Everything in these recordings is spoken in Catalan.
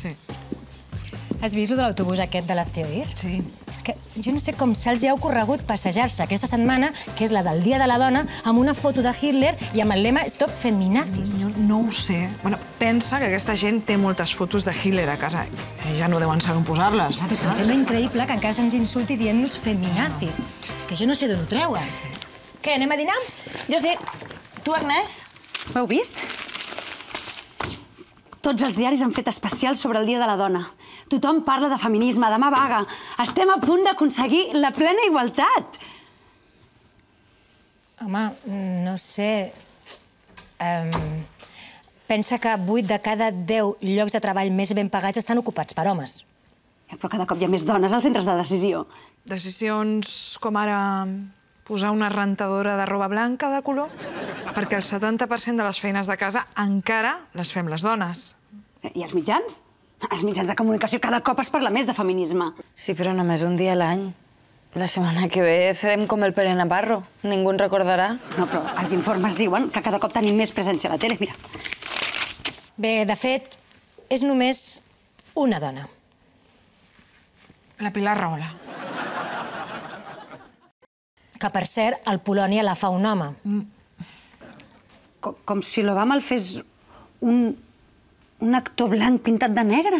Sí. Has vist lo de l'autobús aquest de la Theoir? Sí. És que jo no sé com se'ls ha ocorregut passejar-se aquesta setmana, que és la del Dia de la Dona, amb una foto de Hitler i amb el lema Stop Feminazis. No ho sé. Bueno, pensa que aquesta gent té moltes fotos de Hitler a casa. Ja no deuen saber on posar-les. Però és que em sembla increïble que encara se'ns insulti dient-nos feminazis. És que jo no sé d'on ho treuen. Què, anem a dinar? Jo sí. Tu, Agnès? Ho heu vist? Tots els diaris han fet especials sobre el Dia de la Dona. Tothom parla de feminisme, demà vaga. Estem a punt d'aconseguir la plena igualtat. Home, no sé... Pensa que 8 de cada 10 llocs de treball més ben pagats estan ocupats per homes. Però cada cop hi ha més dones als centres de decisió. Decisions com ara posar una rentadora de roba blanca de color, perquè el 70% de les feines de casa encara les fem les dones. I els mitjans? Els mitjans de comunicació cada cop es parla més de feminisme. Sí, però només un dia a l'any. La setmana que ve serem com el Pere Navarro. Ningú ens recordarà. No, però els informes diuen que cada cop tenim més presència a la tele. Mira. Bé, de fet, és només una dona. La Pilar Rahola. Que, per cert, al Polònia la fa un home. Com si l'Obama el fes un actor blanc pintat de negre.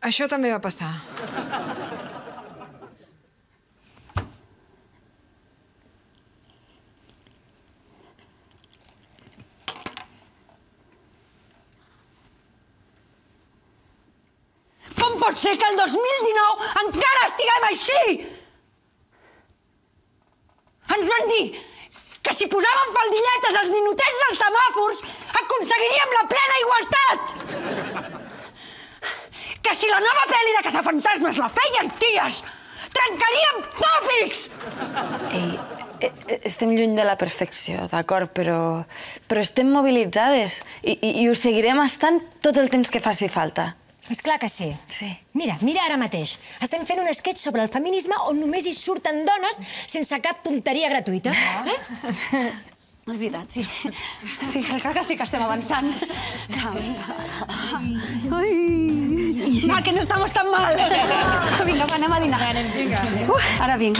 Això també va passar. Com pot ser que el 2019 encara estiguem així? Ens van dir que si posàvem faldilletes als ninotets dels semàfors aconseguiríem la plena igualtat! Que si la nova pel·li de cazafantasmes la feien ties, trencaríem tòpics! Ei, estem lluny de la perfecció, d'acord, però estem mobilitzades i ho seguirem estant tot el temps que faci falta. És clar que sí. Sí. Mira ara mateix. Estem fent un sketch sobre el feminisme on només hi surten dones sense cap tonteria gratuïta. És veritat, sí. Sí, crec que sí que estem avançant. Ai! Ah, que no estamos tan mal! Vinga, anem a dinar. Vinga. Ara vinc.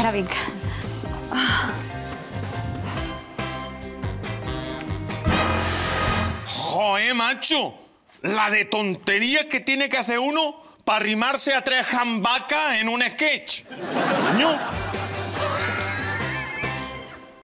Joder, macho. La de tontería que tiene que hacer uno para arrimarse a 3 jambacas en un sketch. Coño,